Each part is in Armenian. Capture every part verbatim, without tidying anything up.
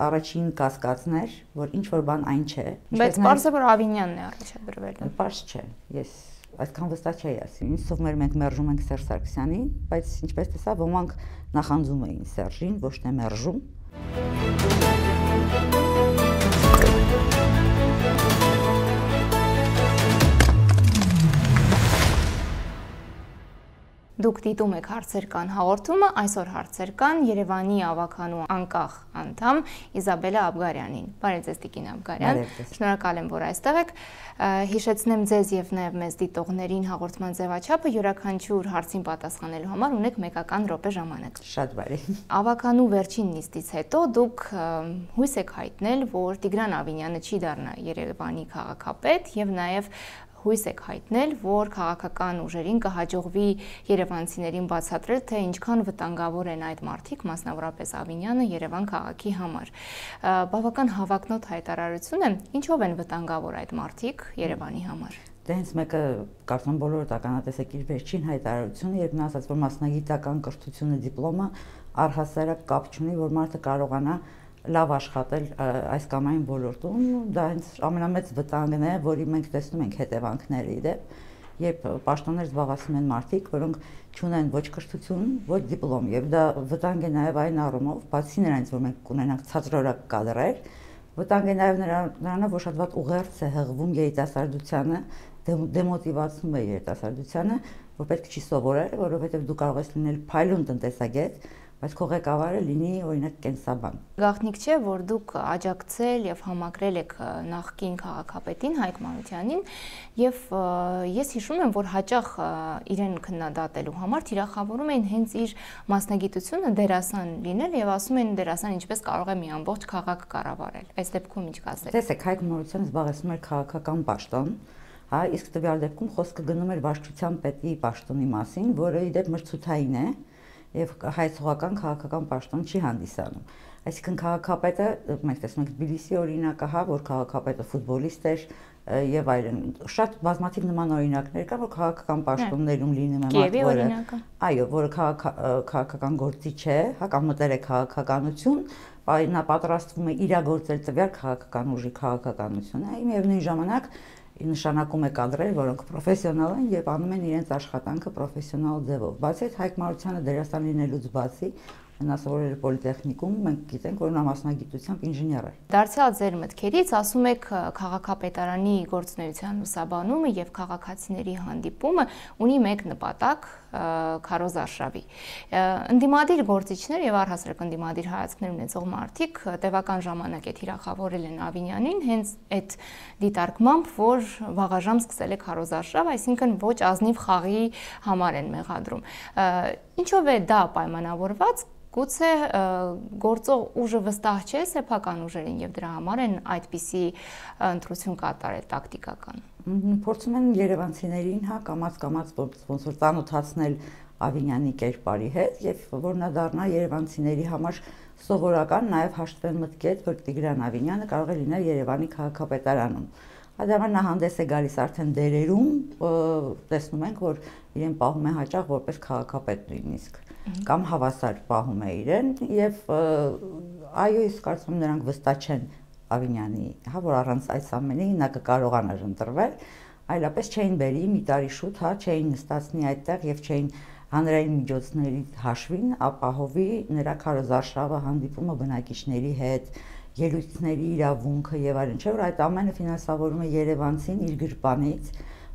Առաջին կասկածն էր, որ ինչ որ բան այն չէ։ Բայց պարզ է, որ Ավինյանն է առաջադրվել։ Պարզ չէ։ Ես այսքան վստահ չէի ասի։ Ինձ թվում էր մենք մերժում ենք Սերժ Սարգսյանին, բայց ինչպես տեսա, ոմանք նախանձում էին Սերժին, ոչ թե մերժում։ Դուք դիտում եք հարցեր կան հաղորդումը, այսօր հարցեր կան Երևանի ավականու անկախ անդամ Իզաբելլա Աբգարյանին։ Բարև ձեզ Տիկին Աբգարյան։ Շնորհակալ եմ, որ այստեղ եք։ Հիշեցնեմ ձեզ եւ նաեւ մեզ դիտողներին հաղորդման ձևաչափը յուրաքանչյուր հարցին պատասխանելու համար ունեք մեկական րոպե ժամանակ։ Շատ բարի։ Ավականու վերջին նիստից հետո դուք հույս եք հայտնել, որ Տիգրան Ավինյանը չի դառնա Երևանի քաղաքապետ եւ նաեւ հույս եք հայտնել, որ քաղաքական ուժերին կհաջողվի երևանցիներին բացատրել, թե ինչքան վտանգավոր են այդ մարդիկ, մասնավորապես Ավինյանը Երևան քաղաքի համար։ Բավական հավակնոտ հայտարարություն է, ինչով են վտանգավոր այդ մարդիկ Երևանի համար։ Դե հենց մեկը կարծում բոլորը տականատեսեք իր վերջին հայտարարությունը, երբ նա ասաց, որ մասնագիտական կրթությունը, դիպլոմը առհասարակ կապ չունի, որ մարդը կարողանա լավ աշխատել այս կամ այն ոլորտում, դա հենց ամենամեծ վտանգն է, որի մենք տեսնում ենք հետևանքները իդեպ, երբ պաշտոններ զբաղեցնում են մարդիկ, որոնք չունեն ոչ կրթություն, ոչ դիպլոմ, եւ դա վտանգ է նաեւ այն առումով, բացի նրանից, որ մենք կունենանք ցածրորակ կադրեր, վտանգ է նաեւ նրանով, որ շատ վատ ուղերձ է հղվում երիտասարդությանը, դեմոտիվացնում է երիտասարդությանը, որ պետք չի սովորել, որովհետեւ դու կարող ես լինել փայլուն տնտեսագետ, բայց քո ղեկավարը լինի օրինակ կենսաբան։ Գաղտնիք չէ, որ դուք աջակցել եւ համակրել եք նախկին քաղաքապետին Հայկ Մանուկյանին եւ ես հիշում եմ, որ հաճախ իրեն քննադատելու համար թիրախավորում էին հենց իր մասնագիտությունը դերասան լինել եւ ասում էին դերասան ինչպես կարող է մի ամբողջ քաղաք կառավարել։ Այս դեպքում ինչ կասեք։ Տեսեք, Հայկ Մանուկյանը զբաղեցնում էր քաղաքական պաշտոն, հա, իսկ տվյալ դեպքում խոսքը գնում էր վարչության պետի պաշտոնի մասին, որը իդեպ մրցութային է եւ հայցողական քաղաքական պաշտոն չի հանդիսանում։ Այսինքն քաղաքապետը, մենք տեսնում ենք Թբիլիսի օրինակը, հա, որ քաղաքապետը ֆուտբոլիստ էր եւ այլն։ Շատ բազմաթիվ նման օրինակներ կան, որ քաղաքական պաշտոններում լինում է մարդ, որը այո, որը քաղաքական գործիչ է, հա, կամ մտել է քաղաքականություն, նա պատրաստվում է իրագործել տվյալ քաղաքական ուժի քաղաքականությունը, միևնույն ժամանակ նշանակում է կադրեր, որոնք պրոֆեսիոնալ են եւ անում են իրենց աշխատանքը պրոֆեսիոնալ ձևով։ Բացի այդ Հայկ Մանուկյանը դերասան լինելուց բացի նա սովորել է պոլիտեխնիկում, մենք գիտենք, որ նա մասնագիտությամբ ինժեներ է։ Դարձյալ ձեր մտքերից ասում եք քաղաքապետարանի գործունեության լուսաբանումը եւ քաղաքացիների հանդիպումը ունի մեկ նպատակ՝ քարոզարշավի։ Ընդդիմադիր գործիչներ եւ առհասարակ ընդդիմադիր հայացքներ ունեցող մարդիկ տևական ժամանակ է թիրախավորել են Ավինյանին հենց այդ դիտարկմամբ, որ վաղաժամ սկսել է քարոզարշավ, այսինքն ոչ ազնիվ խաղի համար են մեղադրում։ Ինչով է դա պայմանավորված։ Գուցե գործող ուժը վստահ չէ սեփական ուժերին եւ դրա համար են այդպիսի ընտրություն կատարել տակտիկական։ Փորձում են երևանցիներին, հա, կամաց-կամաց ոնց որ ծանոթացնել Ավինյանի կերպարի հետ եւ որ նա դառնա երևանցիների համար սովորական, նաեւ հաշտվեն մտքեր, որ Տիգրան Ավինյանը կարող է լինել Երևանի քաղաքապետարանում։ Այդ նա հանդես է գալիս արդեն դերերում, տեսնում ենք, որ իրեն պահում է հաճախ որպես քաղաքապետ նույնիսկ կամ հավասար պահում է իրեն եւ այո, իսկ կարծում եմ նրանք վստահ չեն Ավինյանի, հա, որ առանց այս ամենի նա կկարողանար ընտրվել, այլապես չէին բերի մի տարի շուտ, հա, չէին նստացնի այդտեղ եւ չէին հանրային միջոցների հաշվին ապահովի նրա քարոզարշավը, հանդիպումը բնակիչների հետ, ելույթների իրավունքը եւ այլն, չէ՞ որ այդ ամենը ֆինանսավորում է Երևանցին իր գրպանից,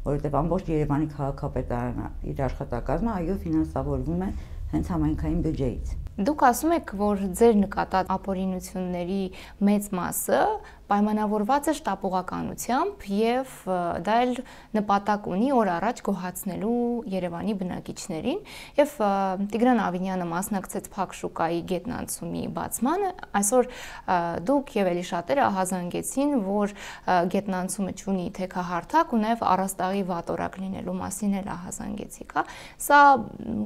որովհետեւ ամբողջ Երևանի քաղաքապետարանը իր աշխատակազմը այո ֆինանսավորվում է հենց համայնքային բյուջեից։ Դուք ասում եք, որ ձեր նկատած ապօրինությունների մեծ մասը պայմանավորված է շտապողականությամբ եւ դա էլ նպատակ ունի օր առաջ գոհացնելու Երևանի բնակիչներին եւ Տիգրան Ավինյանը մասնակցեց Փակ շուկայի գետնանցումի բացմանը, այսօր դուք եւ էլի շատերը ահազանգեցին, որ գետնանցումը չունի թեքահարթակ ու նաեւ առաստաղի վատորակ լինելու մասին էլ ահազանգեցիք, հա։ Սա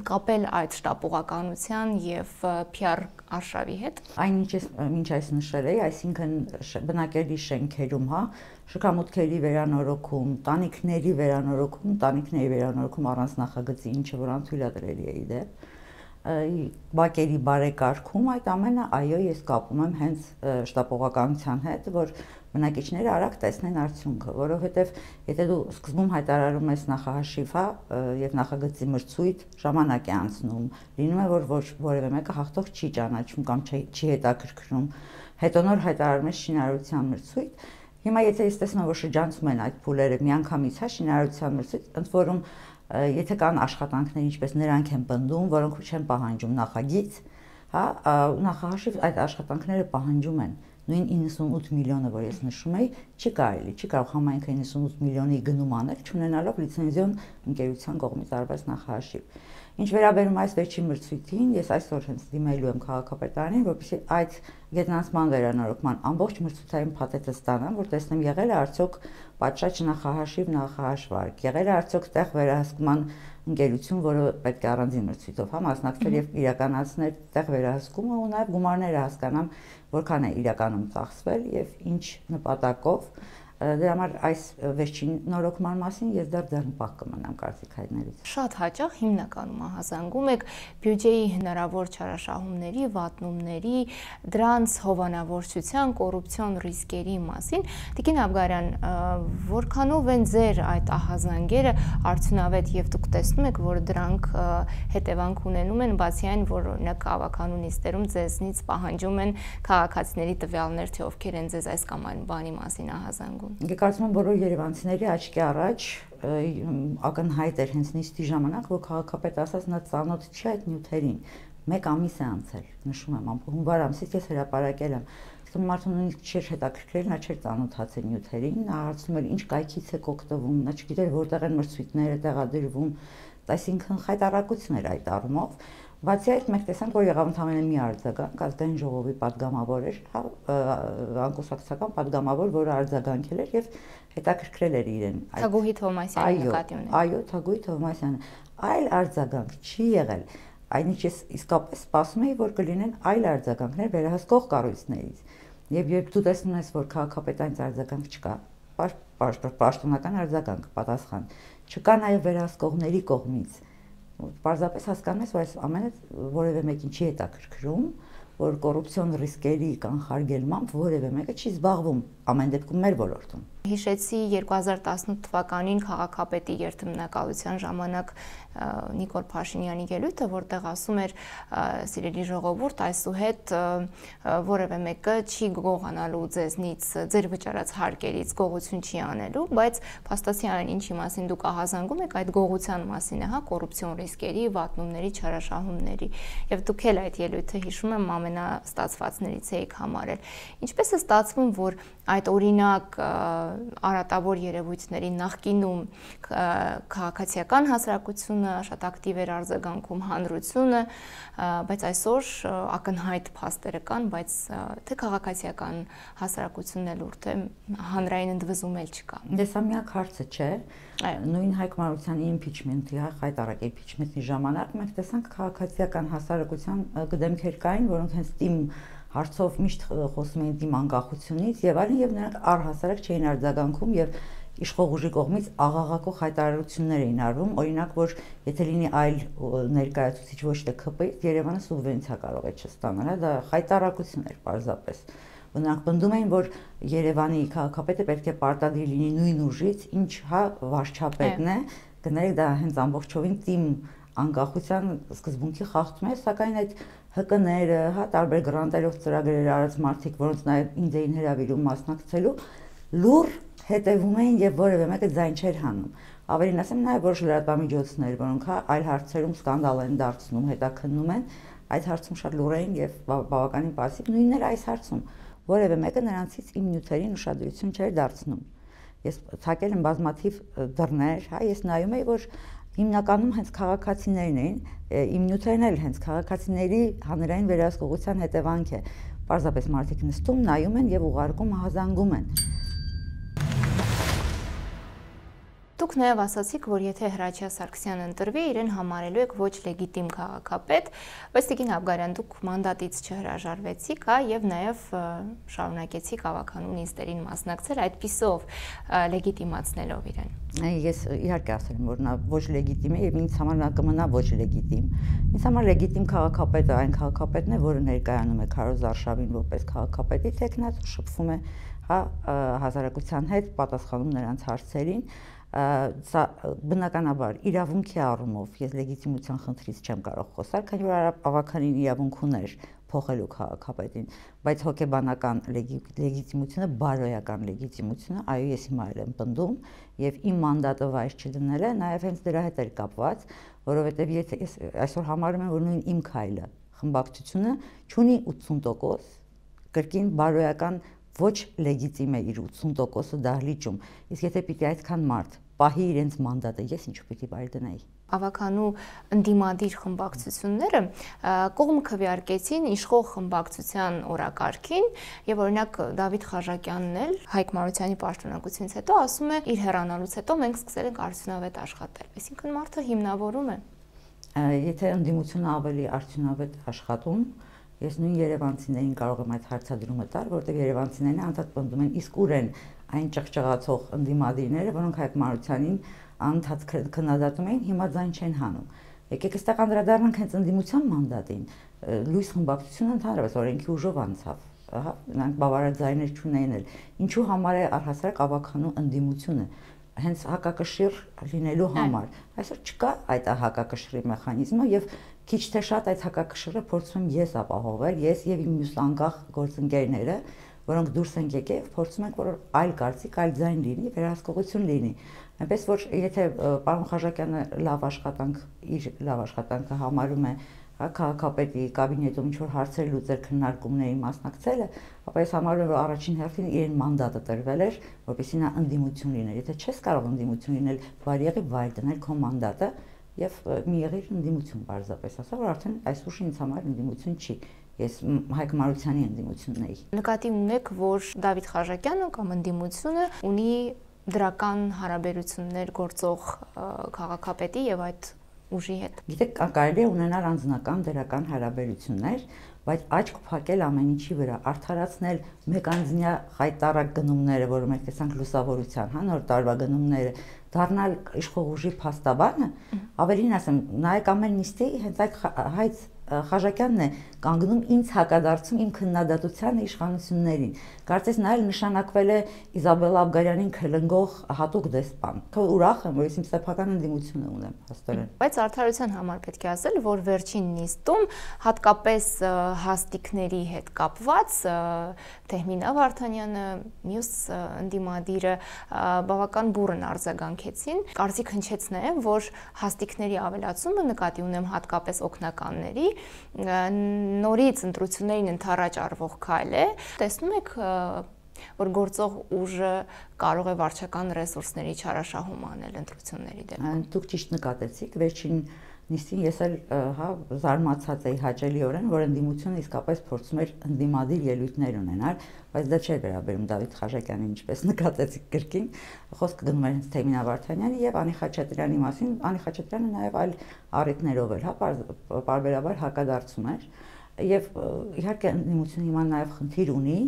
կապել այդ շտապողականության եւ P R արշավի հետ։ Այնինչ ինչ այս նշել էի, այսինքն բնակելի շենքերում, հա, շքամուտքերի վերանորոգում, տանիքների վերանորոգում, տանիքների վերանորոգում առանց նախագծի, ինչը որ անթույլատրելի է իդեպ, բակերի բարեկարգում, այդ ամենը այո ես կապում եմ հենց շտապողականության հետ, որ բնակիչները արագ տեսնեն արդյունքը, որովհետև եթե դու սկզբում հայտարարում ես նախահաշիվ, հա, եւ նախագծի մրցույթ, ժամանակ է անցնում, լինում է որ ոչ որևէ մեկը հաղթող չի ճանաչում կամ չի հետաքրքրում, հետո նոր հայտարարում ես շինարարության մրցույթ, հիմա եթե ես տեսնում որ շրջանցում են այդ փուլերը միանգամից, հա, շինարարության մրցույթ, ընդ որում եթե կան աշխատանքներ, ինչպես նրանք են պնդում, որոնք չեն պահանջում նախագիծ, հա, նախահաշիվ այդ աշխատանքները պահանջում են։ Նույն իննսունութ միլիոնը, որ ես նշում էի, չի կարելի, չի կարող համայնքը իննսունութ միլիոնի գնում անել, չունենալով լիցենզիոն ընկերության կողմից արված նախահաշիվ։ Ինչ վերաբերում այս վերջին մրցույթին, ես այսօր հենց դիմելու եմ քաղաքապետարանին, որպեսզի այդ գետնանցման վերանորոգման ամբողջ մրցութային փաթեթը ստանամ, որ տեսնեմ եղել է արդյոք պատշաճ նախահաշիվ, նախահաշվարկ, եղել է արդյոք տեղ վերահսկման ընկերություն, որը պետք է առանձին մրցույթով հա մասնակցել եւ իրականացնել տեղ վերահսկումը ու նաեւ գումարները հասկանամ, որքան է իրականում ծախսվել եւ ինչ նպատակով։ Դրա համար այս վերջին նորոգման մասին ես դեռ ձեռնպահ կմնամ կարծիք հայտնելուց։ Շատ հաճախ հիմնականում ահազանգում եք բյուջեի հնարավոր չարաշահումների, վատնումների, դրանց հովանավորչության, կոռուպցիոն ռիսկերի մասին։ Տիկին Աբգարյան, որքանով են ձեր այդ ահազանգերը արդյունավետ եւ դուք տեսնում եք, որ դրանք հետևանք ունենում են, բացի այն, որ օրինակ ավականունիստերում ձեզնից պահանջում են քաղաքացիների տվյալներ, թե ովքեր են ձեզ այս կամ այն բանի մասին ահազանգում։ Ես կարծում եմ բոլոր երևանցիների աչքի առաջ ակնհայտ էր հենց նիստի ժամանակ, որ քաղաքապետը ասաց նա ծանոթ չի այդ նյութերին։ Մեկ ամիս է անցել, նշում եմ, հունվար ամսից ես հրապարակել եմ։ Իսկ մարդուն նույնիսկ չէր հետաքրքրել, նա չէր ծանոթացել նյութերին, նա հարցնում էր ինչ կայքից է օգտվում, նա չգիտեր որտեղ են մրցույթները տեղադրվում, այսինքն խայտառակություն էր այդ առումով։ Բացի այդ մենք տեսանք, որ եղավ ընդամենը մի արձագանք, ազգային ժողովի падգամավոր էր, հա, անկուսակցական падգամավոր, որը արձագանքել էր եւ հետաքրքրել էր իրեն։ Թագուհի Թովմասյանի նկատի ունեն։ Այո, Թագուհի Թովմասյանը։ Այլ արձագանք չի եղել։ Այնինչ ես իսկապես սպասում էի, որ կլինեն այլ արձագանքներ վերահսկող կառույցներից։ Եվ երբ դու տեսնում ես, որ քաղաքապետանից արձագանք չկա, պաշտոնական արձագանք, պատասխան, չկա նաեւ վերահսկողների կողմից, պարզապես հասկանում ես, որ այս ամենը որևէ մեկին չի հետաքրքրում, որ կոռուպցիոն ռիսկերի կանխարգելմամբ որևէ մեկը չի զբաղվում, ամեն դեպքում մեր ոլորտում։ Հիշեցի երկու հազար տասնութ թվականին քաղաքապետի երթմնակալության ժամանակ Նիկոլ Փաշինյանի ելույթը, որտեղ ասում էր սիրելի ժողովուրդ, այսուհետ որևէ մեկը չի գողանալու ձեզնից, ձեր վճարած հարկերից գողություն չի անելու, բայց փաստացի այն ինչի մասին դուք ահազանգում եք, այդ գողության մասին է, հա, կոռուպցիոն ռիսկերի, վատնումների, չարաշահումների, եւ դուք էլ այդ ելույթը հիշում եմ ամենաստացվածներից եք համարել։ Ինչպես է ստացվում, որ այդ օրինակ արատավոր երևույթների նախկինում քաղաքացիական հասարակությունը շատ ակտիվ էր արձագանքում, հանրությունը, բայց այսօր ակնհայտ փաստերը կան, բայց թե քաղաքացիական հասարակությունն էլ ուր թե հանրային ընդվզում էլ չկա։ Դե սա միակ հարցը չէ։ Նույն Հայկ Մարությանի impeachment-ի, հայտարարակ impeachment-ի ժամանակ մենք տեսանք քաղաքացիական հասարակության գդեմքեր կային, որոնք հենց տիմ հարցով միշտ խոսում էին դիմ անկախությունից եւ այլն եւ նրանք առհասարակ չէին արձագանքում եւ իշխող ուժի կողմից աղաղակող հայտարարություններ էին արվում, օրինակ որ եթե լինի այլ ներկայացուցիչ ոչ թե ՔՊ-ից Երևանը սուբվենցիա կարող է չստանալ, հա, դա հայտարարություն էր պարզապես։ Նրանք պնդում էին, որ Երևանի քաղաքապետը պետք է պարտադիր լինի նույն ուժից, ինչ հա վարչապետն է, գներեք դա հենց ամբողջովին տիմ անկախության սկզբունքի խախտում է, սակայն այդ ՀԿ-ները, հա, տարբեր գրանտերով ծրագրեր արած մարդիկ, որոնց նաև ինձ էին հրավիրում մասնակցելու, լուր հետևում էին եւ որևէ մեկը ձայն չէր հանում։ Ավելին ասեմ, նաև որոշ լրատվամիջոցներ, որոնք հա այլ հարցերում սկանդալ են դարձնում, հետաքննում են, այդ հարցում շատ լուր էին եւ բավականին պասիվ, նույնն էր այս հարցում։ Որևէ մեկը նրանցից իմ նյութերին ուշադրություն չէր դարձնում։ Ես ցակել եմ բազմաթիվ դռներ, հա, ես նայում էի, որ հիմնականում հենց քաղաքացիներն էին, իմ նյութերն էլ հենց քաղաքացիների հանրային վերահսկողության հետևանք է։ Պարզապես մարդիկ նստում, նայում են եւ ուղարկում, հազանգում են։ Դուք նաև ասացիք, որ եթե Հրաչյա Սարգսյանը ընտրվի, իրեն համարելու եք ոչ լեգիտիմ քաղաքապետ, բայց Տիկին Աբգարյան, դուք մանդատից չհրաժարվեցիք, հա, եւ նաև շարունակեցիք ավականու նիստերին մասնակցել, այդպիսով լեգիտիմացնելով իրեն։ Ես իհարկե ասել եմ, որ նա ոչ լեգիտիմ է եւ ինձ համար նա կմնա ոչ լեգիտիմ։ Ինձ համար լեգիտիմ քաղաքապետը այն քաղաքապետն է, որը ներկայանում է Քարոզ Արշավին որպես քաղաքապետի տեխնաց ու շփվում է, հա, հասարակության հետ, պատասխանում նրանց հարցերին։ Սա բնականաբար իրավունքի առումով ես լեգիտիմության խնդրից չեմ կարող խոսալ, քանի որ ավականին իրավունք ուներ փոխելու քաղաքապետին, բայց հոգեբանական լեգիտիմությունը, բարոյական լեգիտիմությունը, այո, ես հիմա էլ եմ պնդում եւ իմ մանդատը վայր չդնելը նաեւ հենց դրա հետ էր կապված, որովհետեւ եթե ես այսօր համարում եմ, որ նույն իմ քայլը խմբակցությունը ունի ութսուն տոկոս կրկին բարոյական ոչ լեգիտիմ է իր ութսուն տոկոսը դահլիճում, իսկ եթե պիտի այդքան մարդ պահի իրենց մանդատը, ես ինչու պիտի վայր դնեի։ Ավականու ընդդիմադիր խմբակցությունները կողմ քվեարկեցին իշխող խմբակցության օրակարգին եւ օրինակ Դավիթ Խաժակյանն էլ Հայկ Մարությանի պաշտոնակությունից հետո ասում է իր հեռանալուց հետո մենք սկսել ենք արդյունավետ աշխատել, այսինքն մարդը հիմնավորում է։ Եթե ընդդիմությունը ավելի արդյունավետ աշխատում, ես նույն երևանցիներին կարող եմ այդ հարցադրումը տալ, որտեղ երևանցիներն անդադ պնդում են, իսկ ուր են այն ճղճղացող ընդդիմադիրները, որոնք Հայկ Մարությանին անդադ քննադատում էին, հիմա ձայն չեն հանում։ Եկեք այստեղ անդրադառնանք հենց ընդդիմության մանդատին։ Լույս խմբակցությունը ընդհանրապես օրենքի ուժով անցավ, ահա, նրանք բավարար ձայներ չունեին էլ։ Ինչու համար է առհասարակ ավականու ընդդիմությունը հենց հակակշիռ լինելու համար։ Այսօր չկա այդ հակակշռի մեխանիզմը եւ քիչ թե շատ այդ հակակշիռը փորձում եմ ես ապահովել, ես եւ իմ մյուս անկախ գործընկերները, որոնք դուրս են եկել եւ փորձում ենք, որ այլ կարծիք, այլ ձայն լինի, վերահսկողություն լինի։ Այնպես որ եթե պարոն Խաժակյանը լավ աշխատանք, իր լավ աշխատանքը համարում է քաղաքապետի կաբինետում ինչ-որ հարցեր լուծել քննարկումների մասնակցելը, ապա ես համարում եմ, որ առաջին հերթին իրեն մանդատը տրվել էր, որպեսզի նա ընդդիմություն լիներ։ Եթե չես կարող ընդդիմություն լինել, բարի եղի վայր դնել քո մանդատը եւ մի եղիր ընդդիմություն պարզապես, ասա որ արդեն այս ուշ ինձ համար ընդդիմություն չի։ Ես Հայկ Մարությանի ընդդիմությունն էի։ Նկատի ունեք, որ Դավիթ Խաժակյանը կամ ընդդիմությունը ունի դրական հարաբերություններ գործող քաղաքապետի եւ այդ ուժի հետ։ Գիտեք, կարելի է ունենալ անձնական դրական հարաբերություններ, բայց աչք փակել ամեն ինչի վրա, արդարացնել մեկանձնյա խայտարակ գնումները, որը մենք տեսանք լուսավորության, հա, նոր տարվա գնումները, դառնալ իշխող ուժի փաստաբանը, ավելին ասեմ, նայեք ամեն նիստի հենց այդ հայց Խաժակյանն է կանգնում ինձ հակադարձում իմ քննադատությանը իշխանություններին։ Կարծես նա էլ նշանակվել է Իզաբելլա Աբգարյանին քլնգող հատուկ դեսպան։ Ուրախ եմ, որ ես իմ սեփական ընդդիմությունը ունեմ, հաստորեն։ Բայց արդարության համար պետք է ասել, որ վերջին նիստում հատկապես հաստիկների հետ կապված Թեհմինա Վարդանյանը, մյուս ընդդիմադիրը բավական բուռն արձագանքեցին։ Կարծիք հնչեց նաև, որ հաստիկների ավելացումը նկատի ունեմ հատկապես օգնականների նորից ընտրություններին ընդառաջ արվող քայլ է։ Տեսնում եք, որ գործող ուժը կարող է վարչական ռեսուրսների չարաշահում անել ընտրությունների դեպքում։ Դուք ճիշտ նկատեցիք, վերջին նիստին ես էլ հա զարմացած էի հաճելիորեն, որ ընդդիմությունը իսկապես փորձում էր ընդդիմադիր ելույթներ ունենալ, բայց դա չէր վերաբերում Դավիթ Խաժակյանին, ինչպես նկատեցիք կրկին, խոսքը գնում էր հենց Թեհմինա Վարդանյանի եւ Անի Խաչատրյանի մասին, Անի Խաչատրյանը նաեւ այլ առիթներով էր, հա, պարբերաբար հակադարձում էր եւ իհարկե ընդդիմությունը հիմա նաեւ խնդիր ունի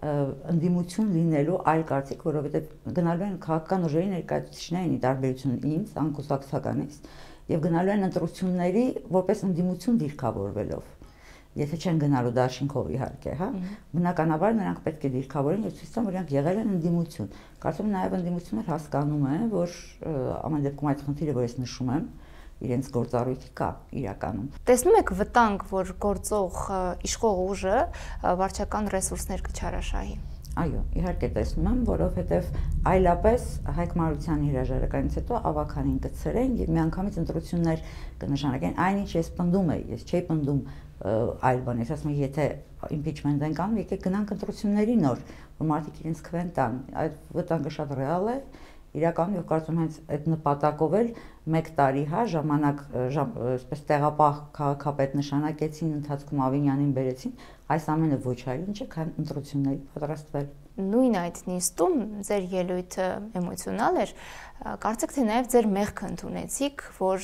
ընդդիմություն լինելու այլ կարծիք, որովհետեւ գնալու են քաղաքական ուժերի ներկայացուցիչներին ի տարբերություն ինձ, անկուսակցականից, եւ գնալու են ընտրությունների որպես ընդդիմություն դիրքավորվելով։ Եթե չեն գնալու դաշինքով իհարկե, հա, բնականաբար նրանք պետք է դիրքավորեն եւ ցույց տան, որ նրանք եղել են ընդդիմություն։ Կարծում եմ նաեւ ընդդիմությունը հասկանում է, որ ամեն դեպքում այդ խնդիրը, որ ես նշում եմ, իրենց գործառույթի կա իրականում։ Տեսնում եք վտանգ, որ գործող իշխող ուժը վարչական ռեսուրսներ կչարաշահի։ Այո, իհարկե տեսնում եմ, որովհետև այլապես Հայկ Մարությանի հրաժարականից հետո ավականին կցրեն եւ միանգամից ընտրություններ կնշանակեն, այնինչ ես պնդում եմ, ես չէի պնդում այլ բան, ես ասում եմ, եթե impeachment են կանում, եկեք գնանք ընտրությունների նոր, որ մարդիկ իրենց քվեն տան, այդ վտանգը շատ ռեալ է, իրականում եւ կարծում հենց այդ նպատակով էլ մեկ տարի, հա, ժամանակ, այսպես տեղապահ քաղաքապետ նշանակեցին, ընթացքում Ավինյանին բերեցին, այս ամենը ոչ այլ ինչ է, քան ընտրությունների պատրաստվել։ Նույն այդ նիստում ձեր ելույթը էմոցիոնալ էր, կարծեք թե նաև ձեր մեղքը ընդունեցիք, որ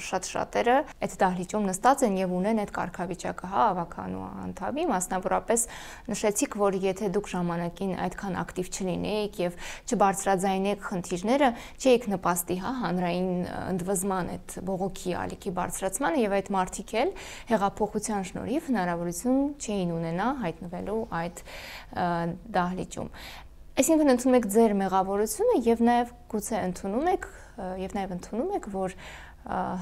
շատ շատերը այդ դահլիճում նստած են եւ ունեն այդ կարգավիճակը, հա, ավականու անդամի, մասնավորապես նշեցիք, որ եթե դուք ժամանակին այդքան ակտիվ չլինեիք եւ չբարձրաձայնեք խնդիրները, չէիք նպաստի, հա, հանրային ընդվզման այդ բողոքի ալիքի բարձրացմանը եւ այդ մարդիկ էլ հեղափոխության շնորհիվ հնարավորություն չէին ունենա հայտնվելու այդ դահլիճում։ Այսինքն ընդունում եք ձեր մեղավորությունը եւ նաեւ գուցե ընդունում եք եւ նաեւ ընդունում եք, որ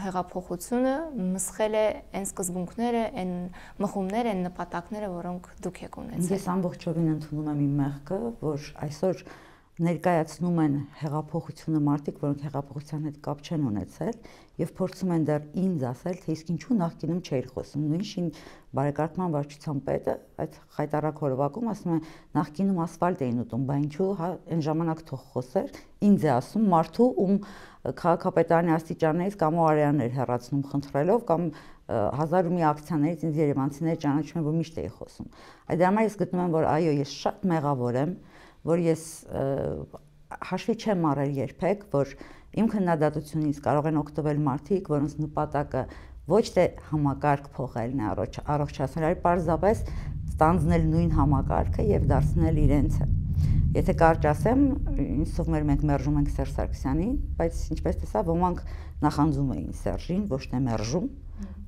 հեղափոխությունը մսխել է այն սկզբունքները, այն մխումները, այն նպատակները, որոնք դուք եք ունեցել։ Ես ամբողջովին ընդունում եմ իմ մեղքը, որ այսօր ներկայացնում են հեղափոխությունը մարդիկ, որոնք հեղափոխության հետ կապ չեն ունեցել եւ փորձում են դեռ ինձ ասել, թե իսկ ինչու նախկինում չէր խոսում։ Նույնիսկ բարեկարգման վարչության պետը այդ խայտարակ հորովակում ասում է նախկինում ասֆալտ էին ուտում, բա ինչու, հա, այն ժամանակ թող խոսեր, ինձ է ասում մարդու, ում քաղաքապետարանի աստիճաններից կամ արյաններ հեռացնում խնդրելով կամ հազար ու մի ակցիաներից ինձ երևանցիները ճանաչում են, որ միշտ էի խոսում։ Այդ համար ես գտնում եմ, որ այո, ես շատ մեղավոր եմ, որ ես հաշվի չեմ առել երբեք, որ իմ քննադատությունից կարող են օգտվել մարդիկ, որոնց նպատակը ոչ թե համակարգ փոխելն է, առողջացնել, այլ պարզապես ստանձնել նույն համակարգը եւ դարձնել իրենցը։ Եթե կարճ ասեմ, ինձ թվում էր մենք մերժում ենք Սերժ Սարգսյանին, բայց ինչպես տեսա, ոմանք նախանձում էին Սերժին, ոչ թե մերժում,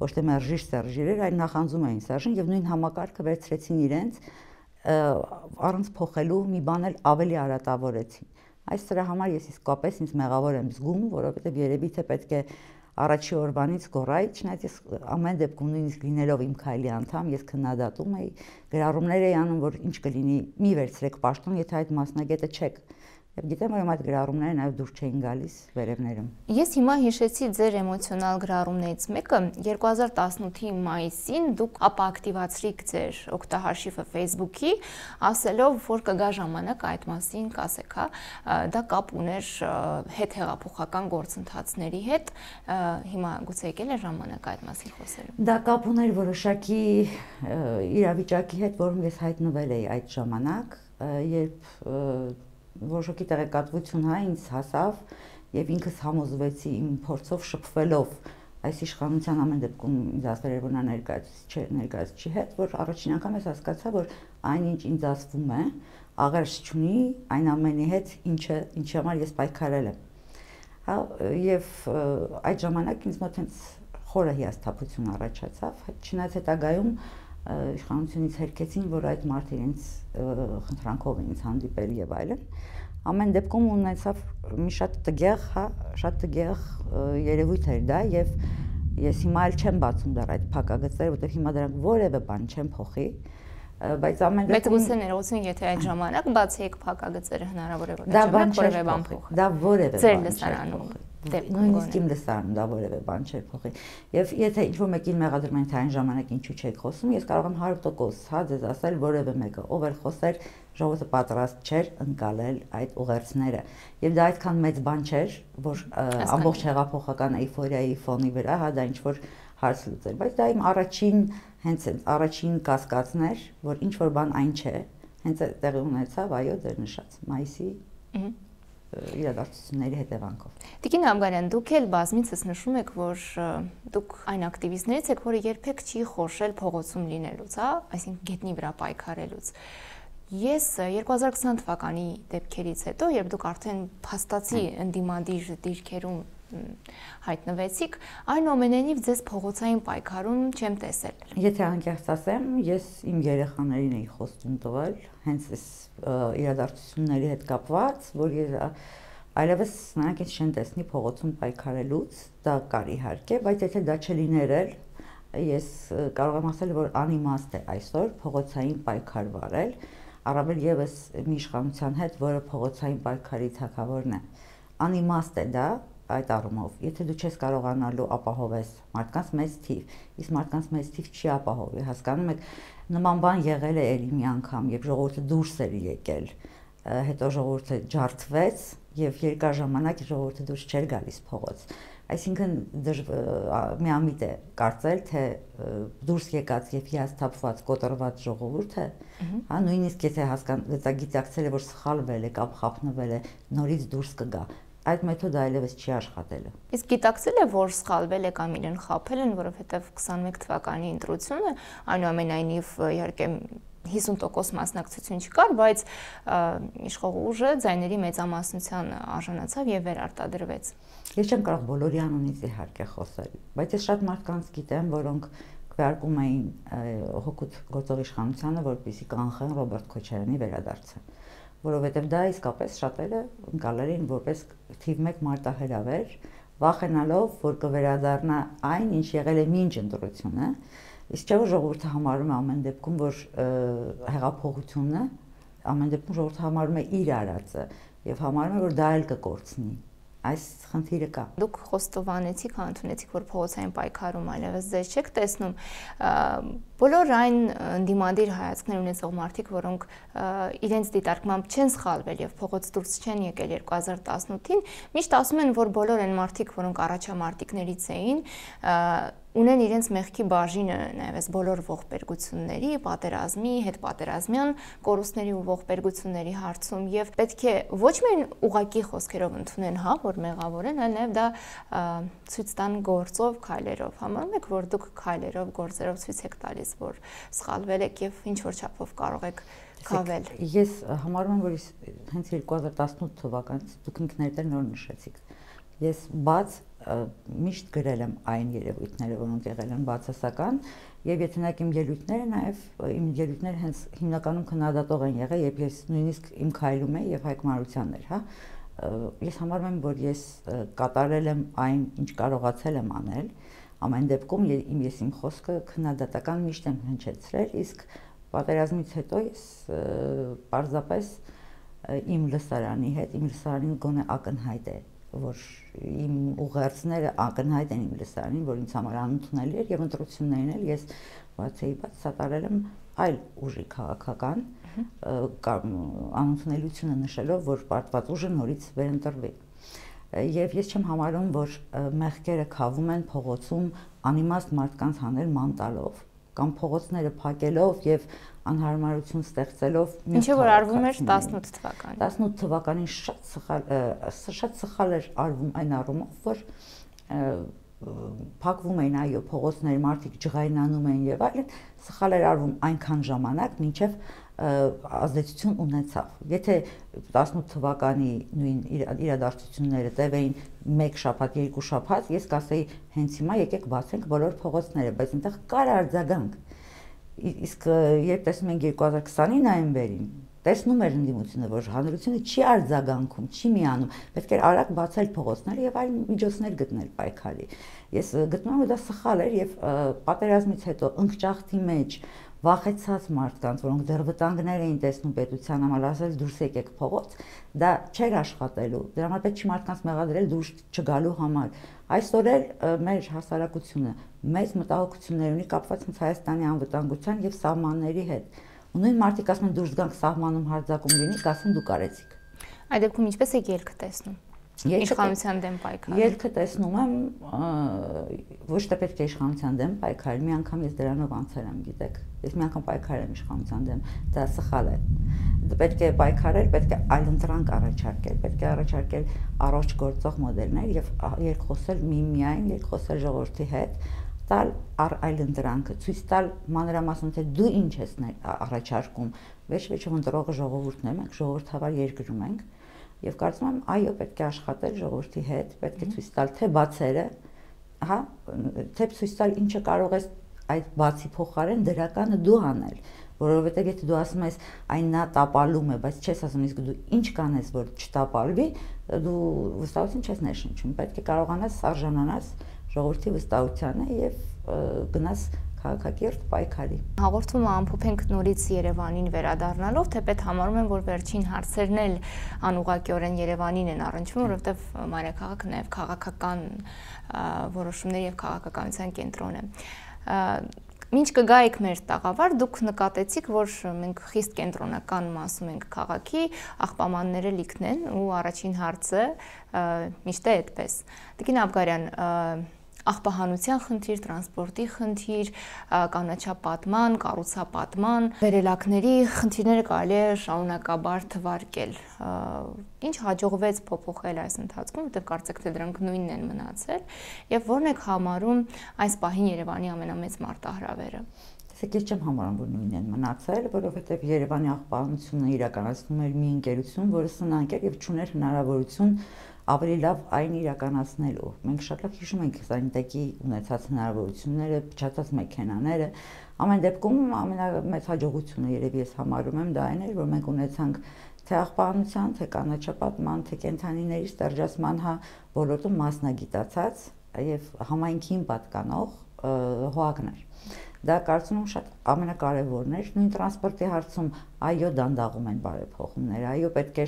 ոչ թե մերժիչ Սերժ իրեր, այլ նախանձում էին Սերժին եւ նույն համակարգը վերցրեցին իրենց առանց փոխելու մի բան էլ ավելի արատավորեցին։ Այս դրա համար ես իսկապես ինձ մեղավոր եմ զգում, որովհետև երևի թե պետք է առաջի օրվանից գոռայի, չնայած ես ամեն դեպքում նույնիսկ լինելով իմ քայլի անդամ, ես քննադատում էի, գրառումներ էի անում, որ ինչ կլինի, մի վերցրեք պաշտոն, եթե այդ մասնագետը չեք։ Եվ գիտեմ, որ այդ գրառումները նաև դուրս չէին գալիս վերևներում։ Ես հիմա հիշեցի ձեր էմոցիոնալ գրառումներից մեկը, երկու հազար տասնութի մայիսին դուք ապակտիվացրիք ձեր օգտահաշիվը Facebook-ի, ասելով, որ կգա ժամանակ այդ մասին կասեք, հա, դա կապ ուներ հետհեղափոխական գործընթացների հետ, հիմա գուցե եկել է ժամանակ այդ մասին խոսելու։ Դա կապ ուներ որոշակի իրավիճակի հետ, որում ես հայտնվել էի այդ ժամանակ, երբ որոշակի տեղեկատվություն հա ինձ հասավ եւ ինքս համոզվեցի իմ փորձով շփվելով այս իշխանության ամեն դեպքում ինձ ասվել էր որ նա ներկայացուցիչ չէ, ներկայացուցիչի հետ, որ առաջին անգամ ես հասկացա, որ այնինչ ինձ ասվում է, աղերս չունի այն ամենի հետ, ինչը ինչի համար ես պայքարել եմ։ Հա եւ այդ ժամանակ ինձ մոտ հենց խորը հիասթափություն առաջացավ, չնայած հետագայում իշխանությունից հերքեցին, որ այդ մարդը իրենց խնդրանքով ինձ հանդիպել եւ այլն։ Ամեն դեպքում ունեցավ մի շատ տգեղ, հա, շատ տգեղ երևույթ էր դա եւ ես հիմա էլ չեմ բացում դեռ այդ փակագծերը, որտեղ հիմա դրանք որևէ բան չեմ փոխի, բայց ամեն դեպքում Բայց ներողություն, եթե այդ ժամանակ բացեիք փակագծերը հնարավոր է որ այդ որևէ բան փոխի։ Դա որևէ բան չէ։ Նույնիսկ իմ լսարանում դա որևէ բան չէր փոխի։ Եվ եթե ինչ-որ մեկին մեղադրում են թե այն ժամանակ ինչու չեք խոսում, ես կարող եմ հարյուր տոկոս հա ձեզ ասել որևէ մեկը, ով էլ խոսեր, ժողովուրդը պատրաստ չէր ընկալել այդ ուղերձները։ Եվ դա այդքան մեծ բան չէր, որ ամբողջ հեղափոխական էյֆորիայի ֆոնի վրա հա դա ինչ-որ հարց լուծել, բայց դա իմ առաջին հենց առաջին կասկածն էր, որ ինչ-որ բան այն չէ, հենց տեղի ունեցավ, այո, ձեր նշած մայիսի իրադարձությունների հետևանքով։ Տիկին Աբգարյան, դուք էլ բազմիցս նշում եք, որ դուք այն ակտիվիստներից եք, որը երբեք չի խորշել փողոցում լինելուց, հա, այսինքն գետնի վրա պայքարելուց։ Ես երկու հազար քսան թվականի դեպքերից հետո, երբ դուք արդեն փաստացի ընդդիմադիր դիրքերում հայտնվեցիք, այնուամենայնիվ ձեզ փողոցային պայքարում չեմ տեսել։ Եթե անկեղծ ասեմ, ես իմ երեխաներին էի խոստում տվել, հենց այս իրադարձությունների հետ կապված, որ այլևս նրանք ինձ չեն տեսնի փողոցում պայքարելուց, դա կար իհարկե, բայց եթե դա չլիներ էլ, ես կարող եմ ասել, որ անիմաստ է այսօր փողոցային պայքար վարել, առավել եւս մի իշխանության հետ, որը փողոցային պայքարի թագավորն է։ Անիմաստ է դա այդ առումով, եթե դու չես կարողանալու ապահովես մարդկանց մեծ թիվ, իսկ մարդկանց մեծ թիվ չի ապահովի, հասկանում եք, նման բան եղել է ելի մի անգամ, երբ ժողովուրդը դուրս էր եկել, հետո ժողովուրդը ջարդվեց եւ երկար ժամանակ ժողովուրդը դուրս չէր գալիս փողոց։ Այսինքն միամիտ է կարծել, թե դուրս եկած եւ հիասթափված կոտրված ժողովուրդը, հա, նույնիսկ եթե հասկանա գիտակցել է, որ սխալվել է կամ խափնվել է, նորից դուրս կգա։ Այդ մեթոդը այլևս չի աշխատելու։ Իսկ գիտակցել է, որ սխալվել է կամ իրեն խաբել են, որովհետև քսանմեկ թվականի ընտրությունը, այնուամենայնիվ իհարկե հիսուն տոկոս մասնակցություն չկար, բայց իշխող ուժը ձայների մեծամասնության արժանացավ եւ վերարտադրվեց։ Ես չեմ կարող բոլորի անունից իհարկե խոսել, բայց ես շատ մարդկանց գիտեմ, որոնք քվեարկում էին հօգուտ գործող իշխանությանը, որպեսզի կանխեն Ռոբերտ Քոչարյանի վերադարձը, որովհետև դա իսկապես շատերը ընկալել էին որպես թիվ մեկ մարտահրավեր, վախենալով, որ կվերադառնա այն, ինչ եղել է մինչ ընտրությունը, իսկ չէ որ ժողովուրդը համարում է ամեն դեպքում, որ հեղափոխությունը ամեն դեպքում ժողովուրդը համարում է իր արածը եւ համարում է, որ դա էլ կկորցնի։ Այս խնդիրը կա։ Դուք խոստովանեցիք, ընդունեցիք, որ փողոցային պայքարում այլևս ձեզ չեք տեսնում։ Բոլոր այն ընդդիմադիր հայացքներ ունեցող մարդիկ, որոնք իրենց դիտարկմամբ չեն սխալվել եւ փողոց դուրս չեն եկել երկու հազար տասնութին, միշտ ասում են, որ բոլոր այն մարդիկ, որոնք առաջամարտիկներից էին, ունեն իրենց մեղքի բաժինը նաև այս բոլոր ողբերգությունների, պատերազմի, հետպատերազմյան կորուստների ու ողբերգությունների հարցում եւ պետք է ոչ միայն ուղակի խոսքերով ընդունեն, հա, որ մեղավոր են, այլ նաև դա ցույց տան գործով, քայլերով։ Համարում եք, որ դուք քայլերով, գործերով ցույց եք տալիս, որ սխալվել եք եւ ինչ որ չափով կարող եք քավել։ Ես համարում եմ, որ հենց երկու հազար տասնութ թվականից դուք ինքներդ էլ նոր նշեցիք։ Ես բաց միշտ գրել եմ այն երևույթները, որոնք եղել են բացասական, եւ եթե նայեք իմ ելույթները, նաեւ իմ ելույթները հենց հիմնականում քննադատող են եղել, եւ ես նույնիսկ իմ քայլում եմ եւ Հայկ Մարությանն էր, հա։ Ես համարում եմ, որ ես կատարել եմ այն, ինչ կարողացել եմ անել, ամեն դեպքում իմ ես իմ խոսքը քննադատական միշտ եմ հնչեցրել, իսկ պատերազմից հետո ես պարզապես իմ լսարանի հետ, իմ լսարանին գոնե ակնհայտ է, որ իմ ուղերձները ակնհայտ են իմ լսարանին, որ ինձ համար անընդունելի էր եւ ընտրություններին էլ ես բացեի բաց սատարել եմ այլ ուժի քաղաքական անընդունելիությունը նշելով, որ պարտված ուժը նորից վերընտրվի։ Եվ ես չեմ համարում, որ մեղքերը քավում են փողոցում անիմաստ մարդկանց հանել ման տալով կամ փողոցները փակելով եւ անհարմարություն ստեղծելով։ Ինչը որ արվում էր տասնութ թվականին։ տասնութ թվականին շատ սխալ շատ սխալ էր արվում այն առումով, որ փակվում էին այո փողոցներ, մարդիկ ջղայնանում էին եւ այլն, սխալ էր արվում այնքան ժամանակ, մինչեւ ազդեցություն ունեցավ։ Եթե տասնութ թվականի նույն իրադարձությունները տևեին մեկ շաբաթ, երկու շաբաթ, ես կասեի հենց հիմա եկեք բացենք բոլոր փողոցները, բայց այնտեղ կար արձագանք։ Իսկ երբ տեսնում ենք երկու հազար քսանի նոյեմբերին, տեսնում էր ընդդիմությունը, որ հանրությունը չի արձագանքում, չի միանում, պետք էր արագ բացել փողոցները եւ այլ միջոցներ գտնել պայքարի։ Ես գտնում եմ, որ դա սխալ էր եւ պատերազմից հետո ընկճախտի մեջ վախեցած մարդկանց, որոնք դեռ վտանգներ էին տեսնում պետության համար, ասել դուրս եկեք փողոց, դա չէր աշխատելու։ Դրա համար պետք չի մարդկանց մեղադրել դուրս չգալու համար։ Այսօր էլ մեր հասարակությունը մեծ մտահոգություններ ունի կապված Հայաստանի անվտանգության եւ սահմանների հետ։ Ու նույն մարդիկ ասում են դուրս գանք սահմանում հարձակում լինի, կասեն դուք արեցիք։ Այդ դեպքում ինչպես եք ելքը տեսնում։ Իշխանության դեմ պայքարը։ Ելքը տեսնում եմ ոչ թե պետք է իշխանության դեմ պայքարել, մի անգամ ես դրանով անցել եմ, գիտեք։ Ես մի անգամ պայքարել եմ իշխանության դեմ, դա սխալ է։ Պետք է պայքարել, պետք է այլընտրանք առաջարկել, պետք է առաջարկել առողջ գործող մոդելներ եւ երկխոսել միմիայն, երկխոսել ժողովրդի հետ, տալ առ այլընտրանքը, ցույց տալ մանրամասն թե դու ինչ ես առաջարկում, վերջ-վերջում ընտրողը ժողովուրդն է, մենք ժողովրդավար երկրում ենք։ Եվ կարծում եմ, այո, պետք է աշխատել ժողովրդի հետ, պետք է ցույց տալ թե բացերը, հա, թե ցույց տալ ինչը կարող ես այդ բացի փոխարեն դրականը դու անել, որովհետև եթե դու ասում ես այն նա տապալում է, բայց չես ասում իսկ դու ինչ կանես, որ չտապալվի, դու վստահություն չես ներշնչում, պետք է կարողանաս արժանանաս ժողովրդի վստահությանը եւ գնաս քաղաքակիրթ պայքարի։ Հաղորդումը ամփոփենք նորից Երևանին վերադառնալով, թեպետ համարում եմ, որ վերջին հարցերն էլ անուղղակիորեն Երևանին են առնչվում, որովհետև մայրաքաղաքը նաև քաղաքական որոշումների եւ քաղաքականության կենտրոն է։ Մինչ կգայիք մեր տաղավար, դուք նկատեցիք, որ մենք խիստ կենտրոնական մասում ենք քաղաքի, աղբամանները լիքն են ու առաջին հարցը միշտ է այդպես։ Տիկին Աբգարյան, աղբահանության խնդիր, տրանսպորտի խնդիր, կանաչապատման, կառուցապատման, վերելակների խնդիրները կարելի է շարունակաբար թվարկել։ Ինչ հաջողվեց փոփոխել այս ընթացքում, որտեղ կարծեք թե դրանք նույնն են մնացել, եւ ո՞րն եք համարում այս պահին Երևանի ամենամեծ մարտահրավերը։ Տեսեք, ես չեմ համարում, որ նույնն են մնացել, որովհետեւ Երևանի աղբահանությունը իրականացնում էր մի ընկերություն, որը սնանկ էր եւ չուներ հնարավորություն ավելի լավ այն իրականացնելու։ Մենք շատ լավ հիշում ենք սանիտեկի ունեցած հնարավորությունները, փչացած մեքենաները։ Ամեն դեպքում ամենամեծ հաջողությունը երևի ես համարում եմ դա այն էր, որ մենք ունեցանք թե աղբահանության, թե կանաչապատման, թե կենդանիների ստերջացման հա ոլորտում մասնագիտացած եւ համայնքին պատկանող հողակներ։ Դա կարծում եմ շատ ամենակարևորն էր։ Նույն տրանսպորտի հարցում այո դանդաղում են բարեփոխումները, այո պետք է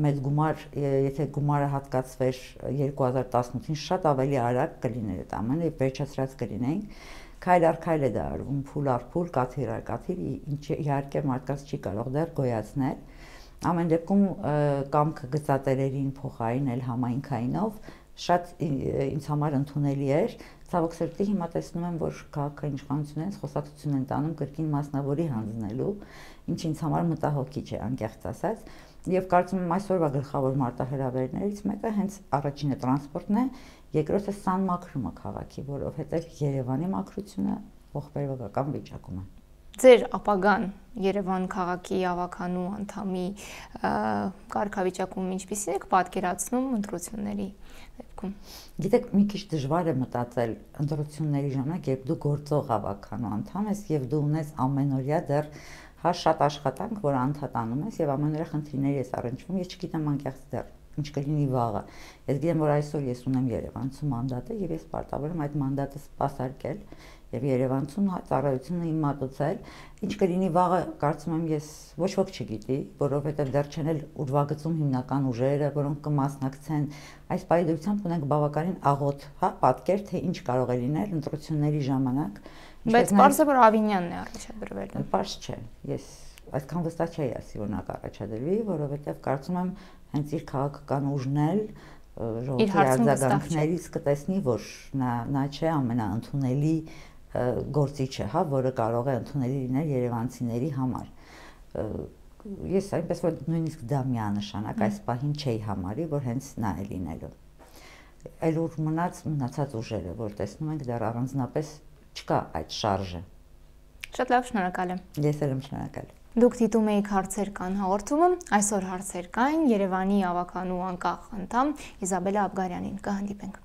մեծ գումար, եթե գումարը հատկացվեր երկու հազար տասնութին շատ ավելի արագ կլիներ այդ ամենը եւ վերջացրած կլինեինք։ Քայլ առ քայլ է դա արվում, փուլ առ փուլ, կաթիլ առ կաթիլ, ինչ իհարկե մարդկանց չի կարող դեռ գոյացնել։ Ամեն դեպքում կամքը գծատերերին փոխարինել համայնքայինով շատ ինձ համար ընդունելի էր։ Ցավոք սրտի հիմա տեսնում եմ, որ քաղաքային իշխանություններից խոսակցություն են տանում կրկին մասնավորի հանձնելու, ինչ ինձ համար մտահոգիչ է, անկեղծ ասած։ Եվ կարծում եմ այսօրվա գլխավոր մարտահրավերներից մեկը հենց առաջինը տրանսպորտն է, երկրորդը սանմաքրումը քաղաքի, որովհետև Երևանի մաքրությունը ողբերգական վիճակում է։ Ձեր ապագան Երևան քաղաքի ավականու անդամի կարգավիճակում ինչպիսին եք պատկերացնում ընտրությունների դեպքում։ Գիտեք, մի քիչ դժվար է մտածել ընտրությունների ժամանակ, երբ դու գործող ավականու անդամ ես եւ դու ունես ամենօրյա դեռ հա շատ աշխատանք, որ անդադանում ես եւ ամենօրյա խնդիրների ես առնչվում, ես չգիտեմ անկեղծ դեռ ինչ կլինի վաղը։ Ես գիտեմ, որ այսօր ես ունեմ Երևանցու մանդատը եւ ես պարտավոր եմ այդ մանդատը սպասարկել եւ Երևանցուն ծառայությունը իմ մատուցել։ Ինչ կլինի վաղը, կարծում եմ ես ոչ ոք չգիտի, որովհետեւ դեռ չեն էլ ուրվագծում հիմնական ուժերը, որոնք կմասնակցեն։ Այս պայմանությամբ ունենք բավականին աղոտ, հա, պատկեր, թե ինչ կարող է լինել ընտրությունների ժամանակ։ Բայց պարզ է, որ Ավինյանն է առաջադրվել։ Պարզ չէ։ Ես այսքան վստահ չէի ասի, որ նա կառաջադրվի, որովհետեւ կարծում եմ հենց իր քաղաքական ուժն էլ ժողովրդի արձագանքներից կտեսնի, որ նա նա չէ ամենաընդունելի գործիչը, հա, որը կարող է ընդունելի լինել երևանցիների համար։ Ես այնպես որ նույնիսկ դա միանշանակ այս պահին չէի համարի, որ հենց նա է լինելու։ Այլ ուր մնաց մնացած ուժերը, որ տեսնում ենք դեռ առանձնապես չկա այդ շարժը։ Շատ լավ, շնորհակալ եմ։ Ես էլ եմ շնորհակալ։ Դուք դիտում եք հարցեր կան հաղորդումը, այսօր հարցեր կային Երևանի ավականու անկախ անդամ Իզաբելլա Աբգարյանին, կհանդիպենք։